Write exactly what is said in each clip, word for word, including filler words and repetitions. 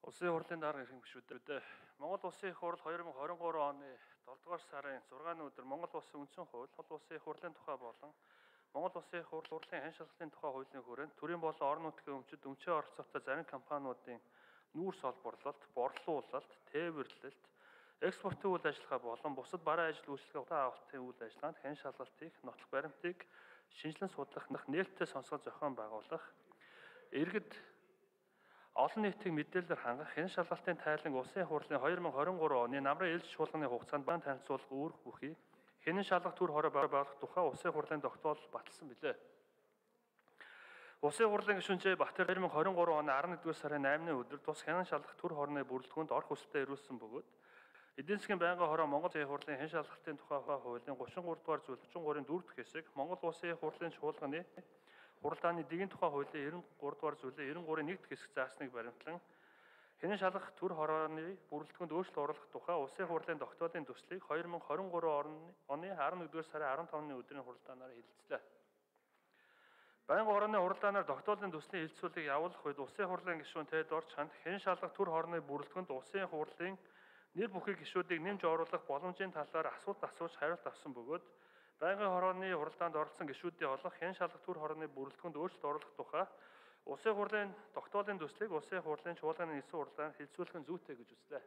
Улсын хурлын дарга ирэх гишүүдээ Монгол Улсын их хурл хоёр мың хорин гурав оны долдугаар сарын зургааны өдөр Монгол Улсын үндсэн хууль, Монгол Улсын их хурлын тухай болон Монгол Улсын их хурл хурлын хэн шалгалтын тухай хуулийн хүрээнд төрийн болон орон нутгийн өмчөд өмчөө оролцоотой зарим компаниудын нүүрс олборлолт, борлуулалт, тээвэрлэлт, экспортын үйл ажиллагаа болон бусад бараа ажил үйлчлэгээ авалтын үйл ажиллагаанд хэн шалгалтыг, нотлох баримтыг шинжилэн судлах, нээлттэй сонсгол зохион байгуулах, иргэд олон нийтийн мэдээлэлээр хангах хэн шалгалтын тайлан улсын хурлын хоёр мың хорин гурав оны намрын ээлж шуулганы хугацаанд бан танилцуулах үүрэг бүхий хэн шалгах төр хороо байгуулах тухай улсын хурлын тогтоол баталсан билээ. Улсын хурлын гишүүнчээ Батэр хоёр мың хорин гурав оны арван нэгдүгээр сарын наймны өдөр тус хэн шалгах төр хорны бүрэлдэхүүнд орох хүсэлтэд ирүүлсэн бөгөөд эдийн засгийн байнгын хороо Монгол Улсын хурлын хэн шалгалтын тухай хуулийн гуравчдугаар дугаар зүйл гуравч гурвын дөрөв дэх хэсэг Монгол Улсын хурлын чуулганы хуралдааны дэгийн тухай хуулийн девяносто три дугаар зүйлийн девяносто три-ийн нэг дэх хэсэг заасныг баримтлан хэн шалгах төр хорооны бүрэлдэхүүнд өөрчлөлт оруулах тухай улсын хурлын тогтоолын төслийг хоёр мың хорин гурав оны арван нэгдүгээр сарын арван тавны өдрийн хуралдаанаар хэлэлцлээ. Байнгын хорооны хуралдаанаар тогтоолын төслийн хэлэлцүүлгийг явуулах үед улсын хурлын гишүүн Тэд Орч ханд хэн шалгах төр хорооны бүрэлдэхүүнд улсын хурлын нэр бүхий гишүүдийг нэмж оруулах боломжийн талаар асуулт асууж хариулт авсан бөгөөд байнгын хорооны хуралдаанд оролцсон гишүүдийн олох хэн шалгах төр хорооны бүрэлдэхүүнд өөрчлөлт оруулах тухай улсын хурлын тогтоолын төслийг улсын хурлын чуулганы нийслэл хурлаанд хэлэлцүүлэх нь зүйтэй гэж үзлээ.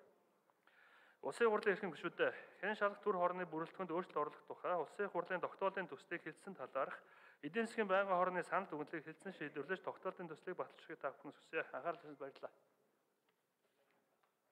Улсын хурлын эрхэм гишүүдээ хэн шалгах төр хорооны бүрэлдэхүүнд өөрчлөлт оруулах тухай улсын хурлын тогтоолын төслийг хэлсэн талаарх эдийн засгийн байнгын хорооны санал дүгнэлтийг хэлсэн шийдвэрлэж тогтоолын төслийг баталчихыг та бүхэн хүсье. Анхаарал тавьсанд баярлалаа.